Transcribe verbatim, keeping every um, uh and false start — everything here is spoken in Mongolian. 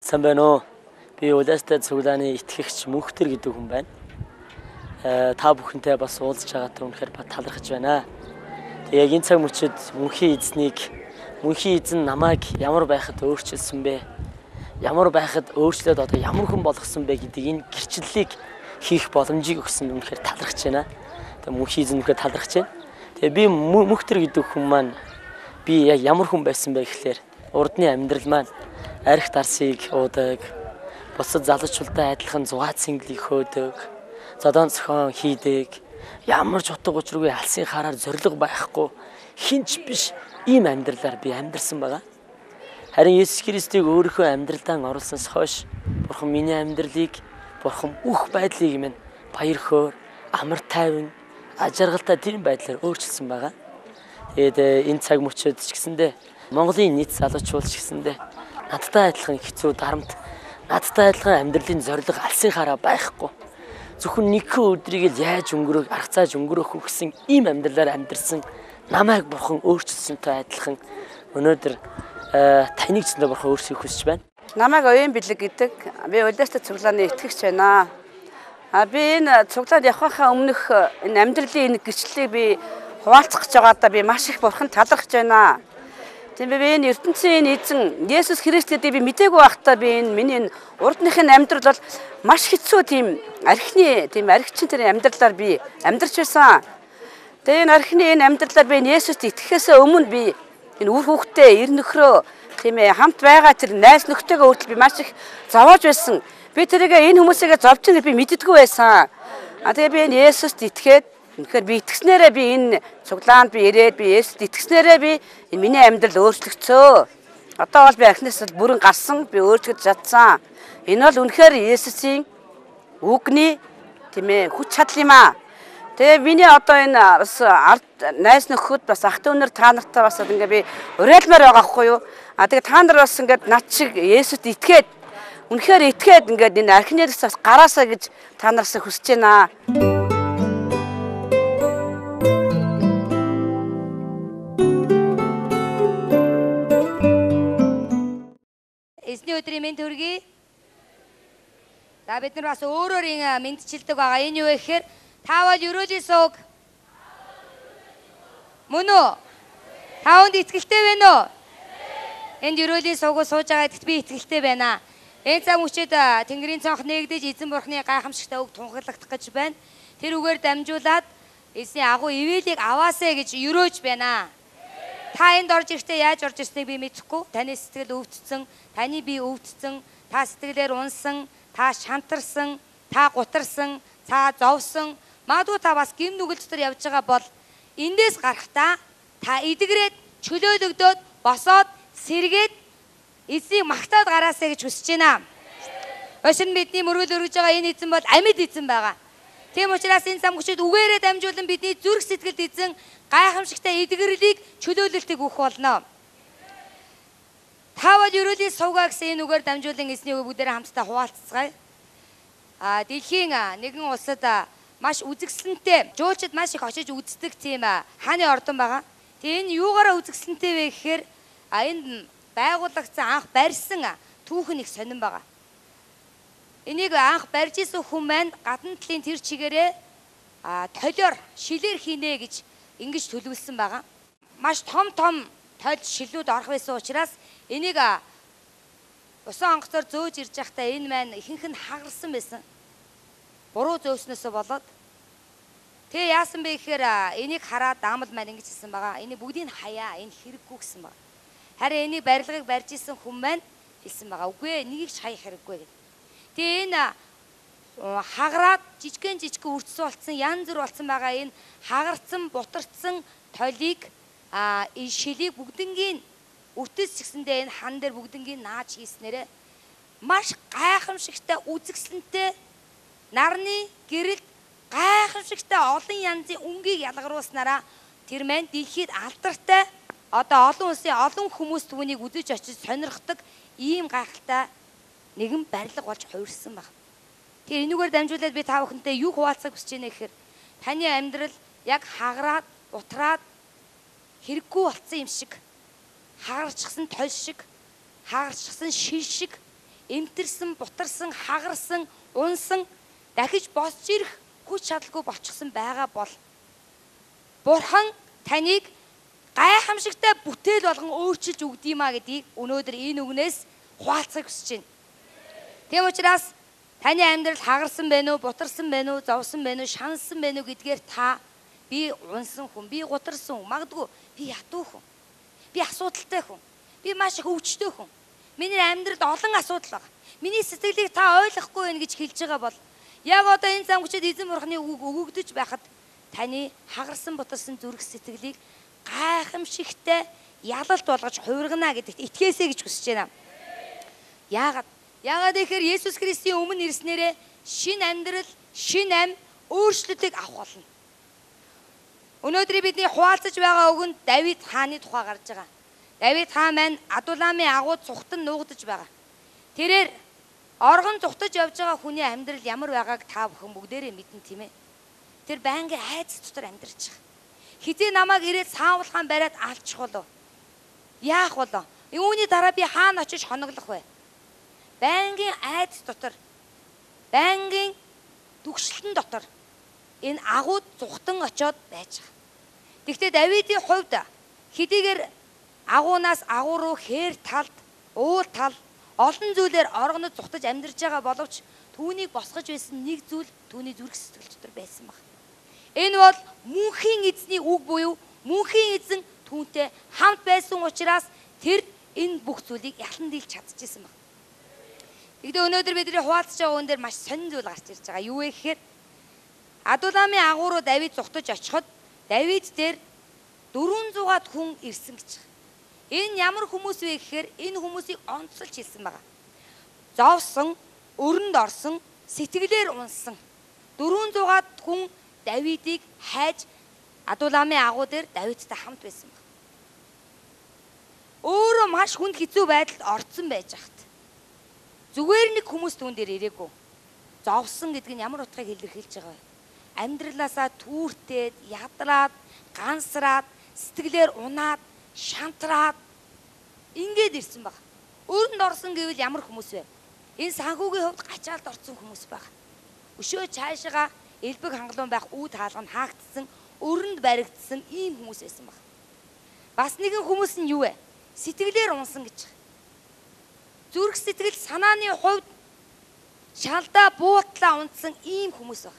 Сайн байна уу? Би Улаастай цуглааны итгэгч Мөнхтөр гэдэг хүн байна. Э та бүхэнтэй бас уулзж байгаатай үнэхээр талархаж байна. Тэг яг энэ цаг мөчид мөнхийн эзнийг мөнхийн эзэн намайг ямар байхад өөрчилсөн бэ? Ямар байхад өөрчлөөд одоо ямар хүн болгосон бэ гэдэг энэ гэрчлэлийг хийх боломжийг өгсөн үнэхээр талархаж байна. Тэг мөнхийн эзэн үнэхээр талархаж байна. Тэгээ би Мөнхтөр гэдэг хүн маань би яг ямар хүн байсан бэ гэхлээр урдны амьдрал маань арх дарсыг уудаг, бусад залуучуудтай адилхан зугаа цэнгэлийг хөөдөг, зодон цохон хийдэг, ямар ч утга учиргүй алсын хараар зориг байхгүй, хинч биш ийм амьдралаар би амьдарсан байгаа. Харин Есүс Христийг өөрийнхөө амьдралдаа оруулснаас хойш Бурхан миний амьдралыг, Бурхан бүх байдлыг минь баяр хөөр, амар тайван, ажиргалтай тийм байдлаар өөрчилсөн байгаа. Тэгээд энэ цаг мөчид ч гэсэндээ Монголын нийт залуучууд ч гэсэндээ надтай адилхан хэцүү дарамт, надтай адилхан амьдралын зориг алсын хараа байхгүй. Зөвхөн нэгэн өдрийг л яаж өнгөрөөх, арга цааж өнгөрөөх гэсэн ийм амьдралаар амьдарсан намайг Бурхан өөрчилсөнтэй адилхан өнөөдөр таныг ч Бурхан өөрчлөхийг хүсэж байна. Намайг Оюун Бэлэг гэдэг. Би Улаастай цуглааны итгэгч байна. А би энэ цуглаад явхахаа өмнөх энэ амьдралын энэ гэрчлэлийг би хуваалцах гэж байгаадаа би маш их Бурхан талархаж байна. Тийм би энэ ертөнцийн эзэн Есүс Христэд би мдээгүй байхдаа би энэ миний урдныхын амьдрал бол маш хэцүү тийм архины тийм архичин тэр амьдралаар би амьдарч байсан. Тэгээ энэ архины энэ амьдралаар би Есүст итгэхээс өмнө би энэ үр хүүхдээ эр нөхрөө тийм ээ хамт байгаа тэр найз нөхдөйгөө хүртэл би маш их зовоож байсан. Би тэрийг энэ хүмүүсээгээ зовж байгааг би мэддэггүй байсан. А тэгээ би энэ Есүст итгээд үнэхээр би итгэснээрээ би энэ цуглаанд би ирээд би Есүст итгэснээрээ би энэ миний амьдрал өөрчлөгцөө. Одоо бол би архинаас бүрэн гарсан, би өөрчлөгдөж чадсан. Энэ бол үнэхээр Есүсийн үгний тийм ээ хүч чадал юм аа. Тэгээ миний одоо энэ бас ард найз нөхөд бас ах дүүнэр та нартай бас ингээ би уриалмаар байгаа хгүй юу. А тэгээ та нар бас ингээд над шиг Есүст итгээд үнэхээр итгээд ингээд энэ архинаас бас гараасаа гэж та нараас хүсэж байна. Эзний өдрийн мэнд хүргэе. За бид нар бас өөрөөр ин мэдчилдэг байгаа. Энэ юу вэ гэхээр та бол ерөөлийн сууг. Мөн үү? Та хүнд итгэлтэй байна уу? Энд ерөөлийн суугууд сууж байгаа гэдэгт би итгэлтэй байна. Энэ цаг мөчид Тэнгэрийн цонх нээгдэж эзэн бурхны гайхамшигтай үг тунхаглагдах гэж байна. Тэр үгээр дамжуулаад эзний агуу ивэлийг аваасаа гэж ерөөж байна. Та энд орж ирэхдээ яаж орж ирснийг би мэдэхгүй. Таны сэтгэл өвдсөн, таны бие өвдсөн, та сэтгэлээр унсан, та шантарсан, та гутарсан, та зовсон. Магадгүй та бас гим нүгэл дотор явж байгаа бол эндээс гарахдаа та эдгрээд, чөлөөлөгдөөд, босоод, сэргээд эзнийг магтаад гараасаа гэж хүсэж байна. Өшин бидний мөргөл өргөж байгаа энэ эзэн бол амьд эзэн байгаа. Тийм учраас энэ зам хүчит үгээрээ дамжуулан бидний зүрх сэтгэлд эзэн гайхамшигтай эдгэрлийг чөлөөлөлтийг өгөх болно. Та бол ерөөлийн сувгаа гэсэн энэ үгээр дамжуулан эзний үг бүгдээрээ хамтдаа хуваалцгаая. А дэлхийн нэгэн улсад маш үзэсгэлэнтэй жуулчид маш их очиж үздэг тийм хааны ордон байгаа. Тэгээ энэ юугаараа үзэсгэлэнтэй вэ гэхээр а энэ байгуулагдсан анх барьсан түүхэн их сонирн байгаа. Энийг анх барьж исэн хүн маань гадна талын тэр чигээрээ а толиор шилээр хийнэ гэж ингэж төлөвлөсөн байгаа. Маш том том толь шилүүд орох байсан учраас энийг усан онгоцоор зөөж ирж байхдаа энэ маань ихэнх нь хагарсан байсан. Буруу зөөснөөсөө болоод тэгээ яасан бэ гэхээр энийг хараад даамал маань ингэж хэлсэн байгаа. Энийг бүгдийг хаяа, энэ хэрэггүй гэсэн байгаа. Харин энийг барилгыг барьж исэн хүн маань хэлсэн байгаа. Үгүй ээ, нэгийг ч хаях хэрэггүй гэдэг. Тэгээ энэ хагараад жижигэн жижигэн үрдсэн болсон, янз бүр болсон байгаа энэ хагарцсан, бутарцсан толийг а энэ шилийг бүгднгийн үртэс чигсэндээ энэ хан дээр бүгднгийн нааж хийснээрээ маш гайхамшигтай үзэсгэлэнтэй нарны гэрэлд гайхамшигтай олон янзын өнгийг ялгаруулснараа тэр маань дэлхийд алдартай одоо олон улсын олон хүмүүс түүнийг үзэж очиж сонирхдаг ийм гайхалтай нэгэн барилга болж хувирсан баг. Тэгээ энүүгээр дамжуулаад би та бүхэнтэй юу хуваалцах хүсэж байна гэхээр таны амьдрал яг хагараад, утраад хэрэггүй болсон юм шиг, хагарчихсан толь шиг, хагарчихсан шил шиг эмтэрсэн, бутарсан, хагарсан, унсан дахиж босч ирэх хүч чадалгүй болчихсон байгаа бол Бурхан таныг гайхамшигтай бүтээл болгон өөрчилж өгдиймаа гэдгийг өнөөдөр энэ үгнээс хуваалцахыг хүсэж байна. Тийм учраас таны амьдрал хагарсан байна уу, бутарсан байна уу, зовсон байна уу, шансан байна уу гэдгээр та би унсан хүн, би гутарсан хүн, магадгүй би ядуу хүн, би асуудалтай хүн, би маш их өвчтөй хүн. Миний амьдралд олон асуудал байна. Миний сэтгэлийг та ойлгохгүй байх гэж хэлж байгаа бол яг одоо энэ зам хүчит эзэн бурхны үг өгөгдөж байхад таны хагарсан бутарсан зүрх сэтгэлийг гайхамшигтай ялалт болгож хувиргана гэдэгт итгээсэй гэж хүсэж байна. Яагаад? Яагаад гэхээр Есүс Христийн өмнө ирснээрээ шин амьдрал, шин ам, өөрчлөлтийг авах болно. Өнөөдөр бидний хуваалцаж байгаа үгэнд Давид хааны тухай гарч байгаа. Давид хаан маань Адуламын агууд цухтан нуугдаж байгаа. Тэрээр оргон цухтаж явж байгаа хүний амьдрал ямар байгааг та бүхэн бүгдээрээ мэднэ тийм ээ. Тэр байнгын айц дотор амьдарч байгаа. Хизээ намайг ирээд саавлахаан бариад алчих болов. Яах болов? Үүний дараа би хаана очиж хоноглох вэ? Байнгын айц дотор, байнгын дүгшлэн дотор энэ агууд зүхтан очоод байж байгаа. Тэгвэл Давидын хувьд хэдийгээр агуунаас агуу руу хээр талд, уул тал олон зүйлээр оргонод зүхтаж амьдарч байгаа боловч түүнийг босгож байсан нэг зүйл түүний зүрх сэтгэл дотор байсан баг. Энэ бол мөнхийн эзний үг буюу мөнхийн эзэн түүнтэй хамт байсан учраас тэр энэ бүх зүйлийг ялан дийлж чадчихсан баг. Тэгвэл өнөөдөр бидний хуваалцж байгаа үн дээр маш сонин зүйл гарч ирж байгаа. Юу вэ гэхээр Адуламын агуу руу Давид зүхтаж очиход Давид дээр дөрвөн зугаад хүн ирсэн гэж байна. Энэ ямар хүмүүс вэ гэхээр энэ хүмүүсийг онцолж хэлсэн байгаа. Зовсон, өрөнд орсон, сэтгэлээр унсан дөрвөн зугаад хүн Давидыг хайж Адуламын агуу дээр Давидтай хамт байсан баг. Өөрөө маш хүнд хэцүү байдалд орцсон байж хат. Зүгээр нэг хүмүүс түүн дээр ирээгүй. Зовсон гэдэг нь ямар утгыг илэрхийлж байгаа вэ? Амьдралаасаа түүртээд, ядраад, гансраад, сэтгэлээр унаад, шантраад ингээд ирсэн баг. Өрөнд орсон гэвэл ямар хүмүүс вэ? Энэ санхүүгийн хувьд гачаалд орсон хүмүүс баг. Өшөө цаашаа элбэг хангалуун байх үүд хаалга нь хаагдсан, өрөнд баригдсан ийм хүмүүс байсан баг. Бас нэгэн хүмүүс нь юу вэ? Сэтгэлээр унсан гэж. Зүрх сэтгэл санааны хувьд шалдаа буутлаа унтсан ийм хүмүүс баг.